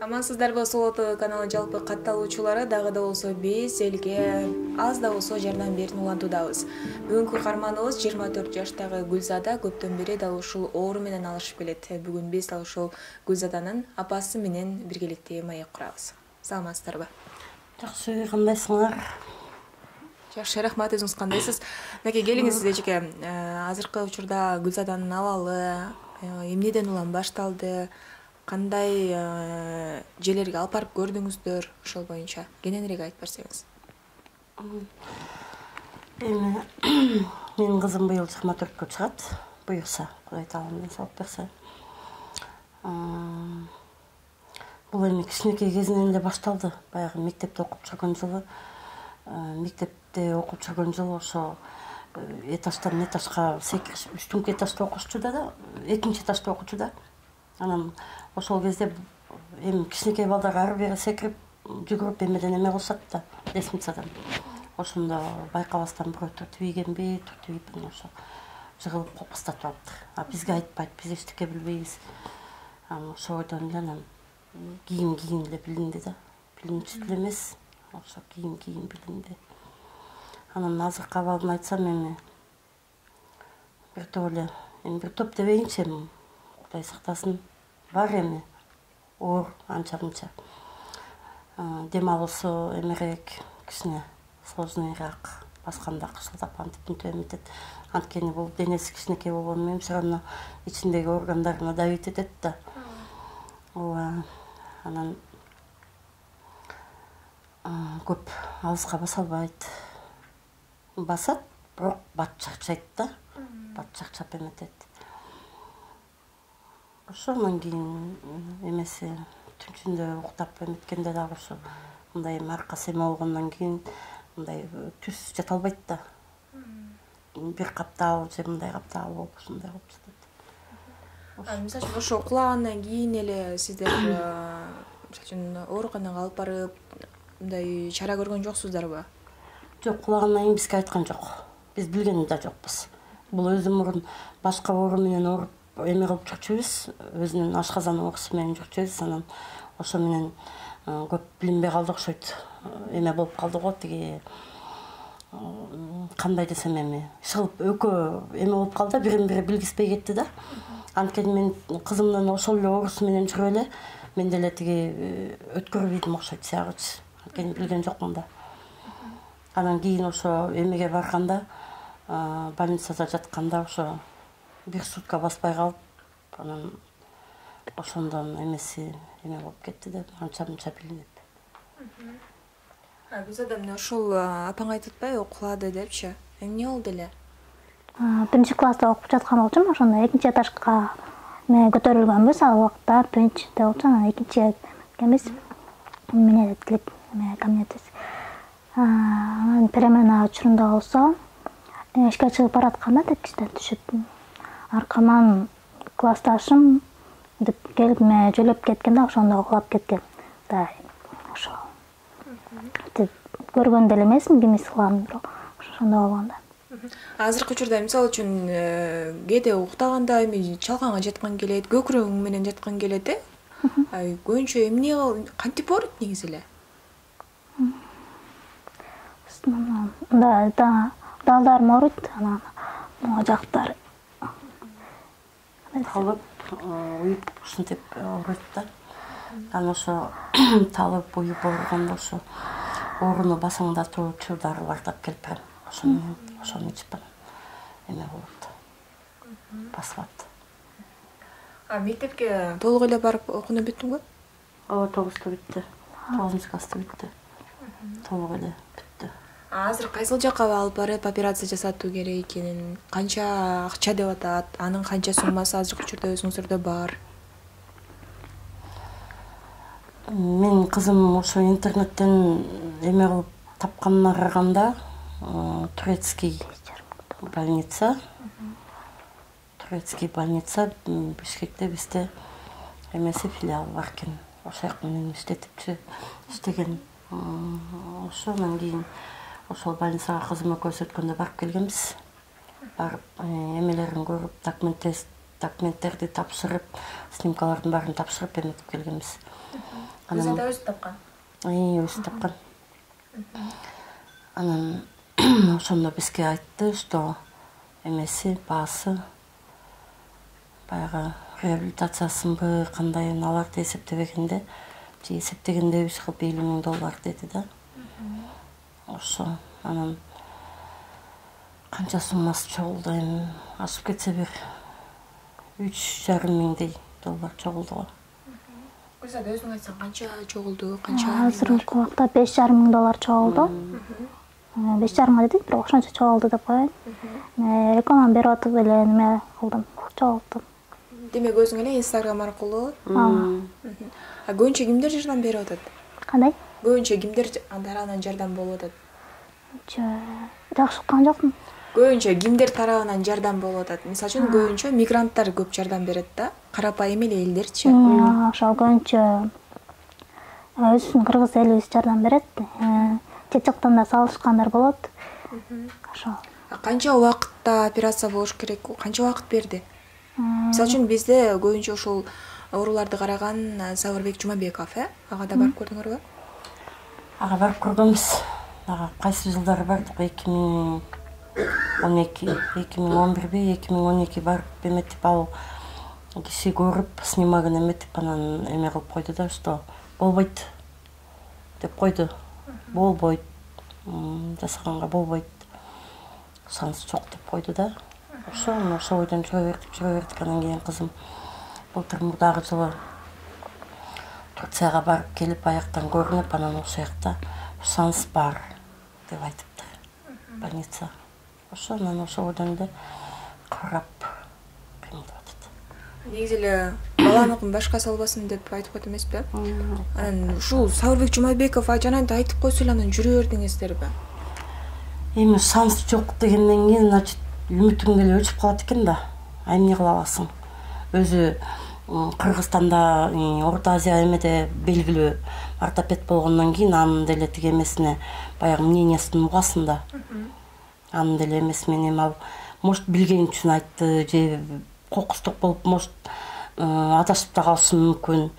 Амансыздарбы, Соло ТВ каналы жалпы катталуучулары дагы да болсо биз элге аз да болсо жардам берүүнү улантуудабыз. Бүгүнкү каарманыбыз 24 жаштагы Гүлзада, көптөн бери дал ушул оору менен алышып келет. Бүгүн биз дал ушул Гүлзаданын апасы менен биргеликте маек курабыз. Саламатсыздарбы? Жакшы, кандайсыңар? Жакшы, рахмат. Өзүңүз кандайсыз? Мынакей келиңиз эжеке. Азыркы учурда Гүлзаданын абалы эмнеден улам башталды? Кандай жерлерге алып барып көрдүңүздөр? Ошол боюнча кененирээк айтып берсеңиз. Эми менин кызым быйыл 24-кө чыгат. Буюрса, Кудай таалам салып берсе. Бул эми кичинекей кезинен эле башталды. Баягы мектепте окуп жүргөн жылы, ошо этаждан этажга секиришип, үчтүнкү этажда окушчу да, экинчи этажда окучу да. Анан ошол кезде эми кичинекей балдар ары бери секирип, жүгүрүп эмеден эме кылышат да, лестницадан. Ошондо байкабастан бирөө түртүбийгенби, түртүбейбин, ошо жыгылып кокустатып алыптыр. А бизге айтпайт, биз эчтеке билбейбиз. Анан ошол бойдон эле анан кийим эле билинди да. Билинчү деле эмес, ошо кийим билинди. Анан азыркы абалын айтсам эми бир топ эле, бир топ дебейинчи, эми Кудай сактасын, бар эми оор анча-мынча. Дем алуусу эмерээк, кичине сложныйраак, басканда кышылдап антип мынтип эметет. Анткени бул денеси кичинекей болгону менен все равно ичиндеги органдарына давить этет да. Ооба. Анан көп алыска баса албайт. Басат, бирок бат чарчайт да. Бат чарчап эметет. Ошондан кийин эмеси түнчүндө уктап эметкенде дагы ошо мындай аркасы эме болгондон кийин мындай түз жата албайт да. Бир каптал же мындай каптал болуп, ушундай болуп жатат. Мисалы үчүн ошо кулагандан кийин эле сиздер мисалы үчүн ооруканага алып барып мындай чара көргөн жоксуздарбы? Жок, кулагандан кийин бизге айткан жок. Биз билген да жокпуз. Бул өзү мурун башка оору менен ооруп эме кылып жүрчүбүз, өзүнүн ашказан оорусу менен жүрчүбүз. Анан ошо менен көп билинбей калды окшойт. Эме болуп калды го, тиги кандай десем эми, шылып экөө эме болуп калды, бирин-бири билгиспей кетти да. Анткени мен кызымдын ошол эле оорусу менен жүрүп эле мен деле тиги өткөрбөйдүм окшойт сыягычы. Анткени билген жокмун да. Анан кийин ошо эмеге барганда, больницада жатканда ошо бир сутка баспай калып, анан ошондон эмеси эме болуп кетти да, анча-мынча билинип. Гүлзада, мына ушул апаң айтып атпайбы, кулады депчи? Эмне болду эле? Биринчи класста окуп жаткан болчумун, ошондо экинчи этажга көтөрүлгөнбүз, ал убакта принчипте болчу, анан экинчи экенбиз, эмне делип, камнетиз. Анан перемена учурунда болсо, эшикке чыгып баратканда тепкичтен түшүп, аркаман классташым деп келип жөлөп кеткен да, ошондо кулап кеткен. Да, ошо. Көргөн деле эмесмин, ким кылган, бирок ошондо болгон да. Азыркы учурда мисалы үчүн кээде уктаганда эми чалканга жаткан келет, көкүрөгүң менен жаткан келет, көбүнчө эмне кантип ооруйт негизи эле? Да, далдарым ооруйт, анан могу жактары. Талып, уюп, ушинтип ооруйт да. Анан ошо талып, уюп ооруганда ошо ооруну басаңдатуучу дарылар тап келип берем. Ошону ичип эме болот. Басат. Мектепке толук эле барып окууну бүттүңбү? Ооба, 9-ту бүттү. 9-класста бүттү. Толук эле бүттү. Азыр кайсыл жакка алып барып операция жасатуу керек экенин, канча акча деп атат, анын канча суммасы азыркы учурда өзүңүздөрдө бар? Менин кызым ошо интернеттен эме кылып тапканына караганда, турецкий больница Бишкекте бизде эмеси филиалы бар экен. Ошол жак менен иштеген. Ошонан кийин ошол больницага кызым экөөбүз өткөндө барып келгенбиз. Барып эмелерин көрүп, документтерди тапшырып, снимкалардын баарын тапшырып эметип келгенбиз. Гүлзада өзү тапкан. Өзү тапкан. Анан ошондо бизге айтты, что эмеси баасы баягы реабилитациясынбы кандай аларды эсептебегенде же эсептегенде $50 миң деди да. Ошо анан канча суммасы чогулду, эми ашып кетсе бир $3,5 миңдей чогулду го. Гүлзада өзүң айтсаң канча чогулду, канча? Азыркы убакта $5,5 миң чогулду. 5,5 дедик, бирок ошончо чогулду деп коеюн. Реклама берип атып эле неме кылдым, чогулттум. Демек өзүң эле Instagram аркылуу? Көбүнчө кимдер жардам берип атат? Кандай? Көбүнчө кимдер тарабынан жардам болуп атат? Жакшы уккан жокмун. Көбүнчө кимдер тарабынан жардам болуп атат? Мисалы үчүн көбүнчө мигранттар көп жардам берет да, карапайым эле элдерчи. Ошол көбүнчө өзүбүздүн кыргыз элибиз жардам берет. Чет жактан да салышкандар болот. Ошол. Канча убакытта операция болуш керек? Канча убакыт берди? Мисалы үчүн бизде көбүнчө ошол ооруларды караган Сабырбек Жумабеков, ага да барып көрдүңөрбү? Ага барып көргөнбүз. Ага кайсы жылдары бардык? 2012, 2011 2012 барып эметип ал киши көрүп снимогун эметип анан эме кылып койду да, что болбойт деп койду. Болбойт. Жасаганга болбойт. Шанс жок деп койду да. Ошо ойдон жүрө бердик. Анан кийин кызым былтыр мурдагы жылы Турцияга барып келип аяктан көрүнүп, анан ошол жакта шанс бар деп айтыптыр. Больница. Анан ошол ойдон эле карап кыймылдап атат. Негизи эле баланыкын башка салбасын деп айтып койду эмеспи? Анан ушул Сабырбек Жумабеков жанагынтип айтып койсо эле анан жүрө бердиңиздерби? Эми шанс жок дегенден кийин, значит, үмүтүң деле өчүп калат экен да. Эмне кыла аласың? Өзү Кыргызстанда, Орто Азия эмеде белгилүү ортопед болгондон кийин анын деле тиги эмесине баягы мнениясын угасың да. Анын деле эмеси менен ал может билген үчүн айтты же кокустук болуп, может адашып да калышы мүмкүн.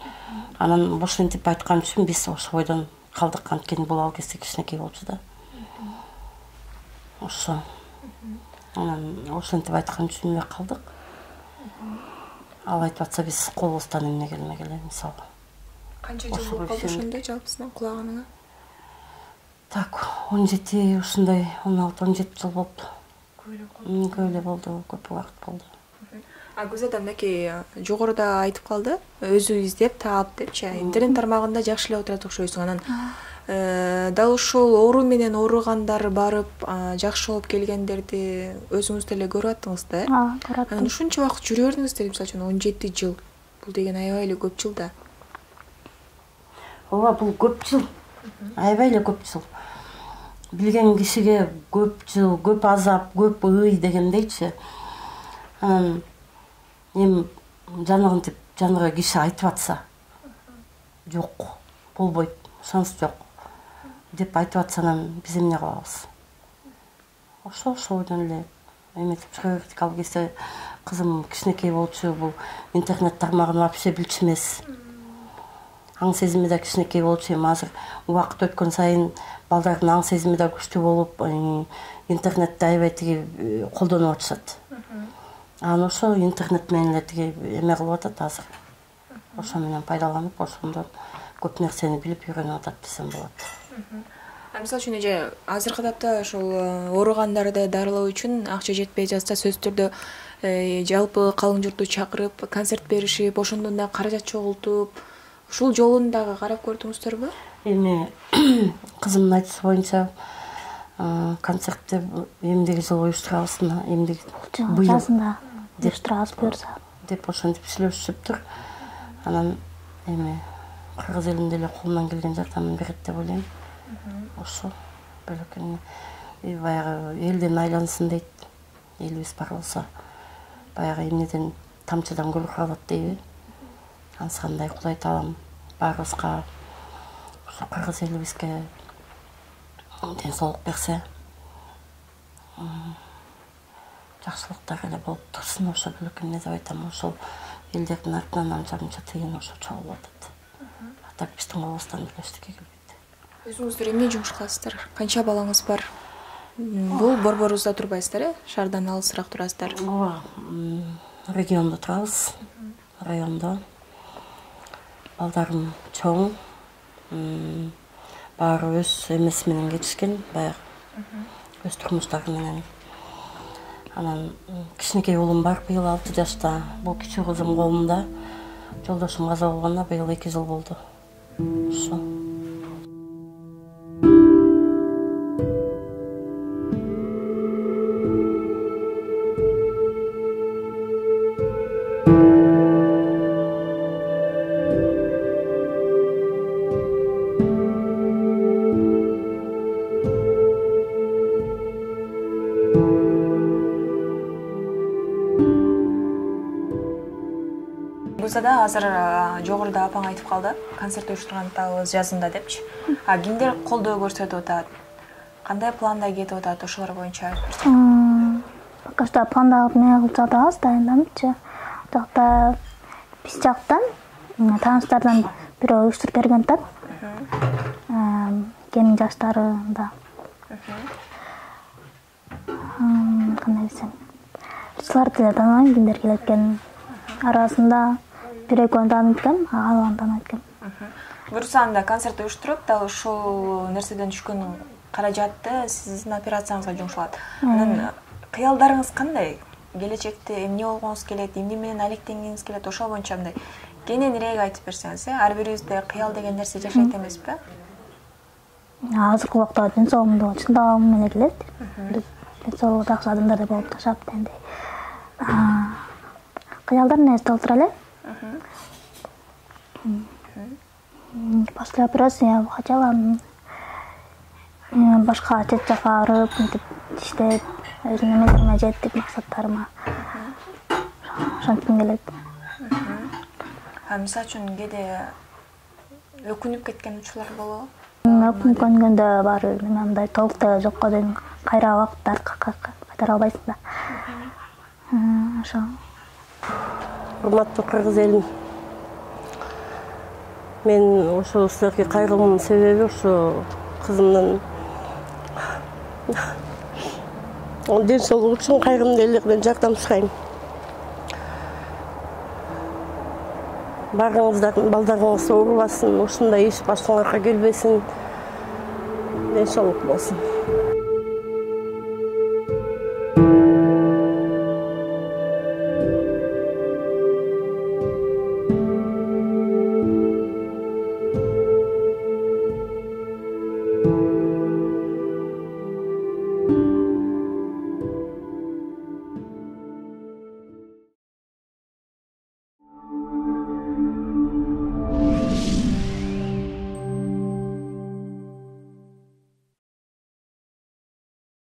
Анан ошентип айткан үчүн биз ошол ойдон калдык. Анткени бул ал кезде кичинекей болчу да. Ошо. Анан ошентип айткан үчүн эле калдык. Ал айтып атса биз колубуздан эмне келмегиле, мисалы. Канча жыл болуп калды ошондо жалпысынан кулаганыңа? Так, 17 ушундай 16-17 жыл болупту. Көп эле болду, көп убакыт болду. Гүлзада мынакей жогоруда айтып калды, өзү издеп таап депчи. Интернет тармагында жакшы эле отурат окшойсуң. Анан дал ушул оору менен ооругандар барып, жакшы болуп келгендерди өзүңүз деле көрүп аттыңыз да? Көрүп аттым. Анан ушунча убакыт жүрө бердиңиздер, мисалы үчүн 17 жыл. Бул деген аябай эле көп жыл да. Ооба, бул көп жыл. Аябай эле көп жыл. Билген кишиге көп жыл, көп азап, көп ый дегендейчи. Анан эми жанагы киши айтып атса, жок, болбойт, шанс жок деп айтып атса, анан биз эмне кылабыз? Ошол ойдон эле эметип жүрө бердик. Ал кезде кызым кичинекей болчу, бул интернет тармагын вообще билчү эмес. Аң сезими да кичинекей болчу. Эми азыр убакыт өткөн сайын балдардын аң сезими да күчтүү болуп, интернетти аябай тиги колдонуп атышат. Анан ошо интернет менен эле тиги эме кылып атат азыр. Ошо менен пайдаланып, ошондон көп нерсени билип үйрөнүп атат десем болот. Мисалы үчүн азыркы тапта ошол ооругандарды дарылоо үчүн акча жетпей жатса, сөзсүз түрдө жалпы калың журтту чакырып, концерт беришип, ошондон да каражат чогултуп, ушул жолун дагы карап көрдүңүздөрбү? Эми кызымдын айтышы боюнча концертти эмдиги жылы уюштурабыз, быйыл жазында уюштурабыз буюрса деп ошентип сүйлөшүшүптүр. Анан эми кыргыз элинин деле колунан келген жардамын берет деп ойлойм. Ошо бөлөкөн баягы элден айлансын дейт. Элибиз бар болсо баягы эмнеден тамчыдан көл калат дейби. Ансыкандай Кудай таалам баарыбызга ошо кыргыз элибизге ден соолук берсе, жакшылыктар эле болуп турсун. Ошо бөлөкөн эмне деп айтам, ошол элдердин артынан анча тыйын ошо чогулуп атат. так биздин калыбыздан деле эчтеке келбейт. Өзүңүздөр эмне жумуш кыласыздар? Канча балаңыз бар? Бул борборубузда турбайсыздар, шаардан алысыраак турасыздар. Ооба, региондо турабыз. Райондо. Балдарым чоң. Баары өз эмеси менен кетишкен, баягы өз турмуштары менен. Анан кичинекей уулум бар, быйыл 6 жашта. Бул кичүү кызым колумда. Жолдошум каза болгонуна быйыл 2 жыл болду. Ошо. Гүлзада азыр жогоруда апаң айтып калды, концерт уюштургандагыбыз жазында депчи. Кимдер колдоо көрсөтүп атат? Кандай планда кетип атат ошолор боюнча айтып берсең? Пока что пландагы эмне кылып жатабыз, дайындамчы. Жакта биз жактан тааныштардан бирөө уюштуруп берген атат. Кемин жаштарында. Кандай десем? Силерди деле тааныбайм, кимдер келет экенин. Арасында бир-экөөнү таанып экен, калган тааныбайт экен. Буюрса анда концерт уюштуруп, дал ушул нерседен түшкөн каражатты сиздин операцияңызга жумшалат. Анан кыялдарыңыз кандай? Келечекте эмне болгоңуз келет, эмне менен алектенгиңиз келет, ошол боюнча мындай кененирээк айтып берсеңиз, ар бирибизде кыял деген нерсе жашайт эмеспи? Азыркы убакта ден соолугумду чындагым менен келет. Ден соолугу жакшы адамдар болуп жашап дегендей. Кыялдар нерсе отура эле. После операции я хотела башка чет жака барып, мынтип иштеп, өзүмдүн эмелериме жеттик, максаттарыма. Ошонтким келет. Мисалы үчүн кээде өкүнүп кеткен учурлар болобу? Өкүнүп көнгөндө бар, мындай толуктуу жокко дейм кайра убакыттар кайтара албайсың да. Ошо. Урматтуу кыргыз элим, мен ошо силерге кайрылуумдун себеби ошо кызымдын ден соолугу үчүн кайрымдуу элдерден жардам сурайм. Баарыңыздар балдарыңыз оорубасын, ушундай иш башыңарга келбесин. Ден соолук болсун.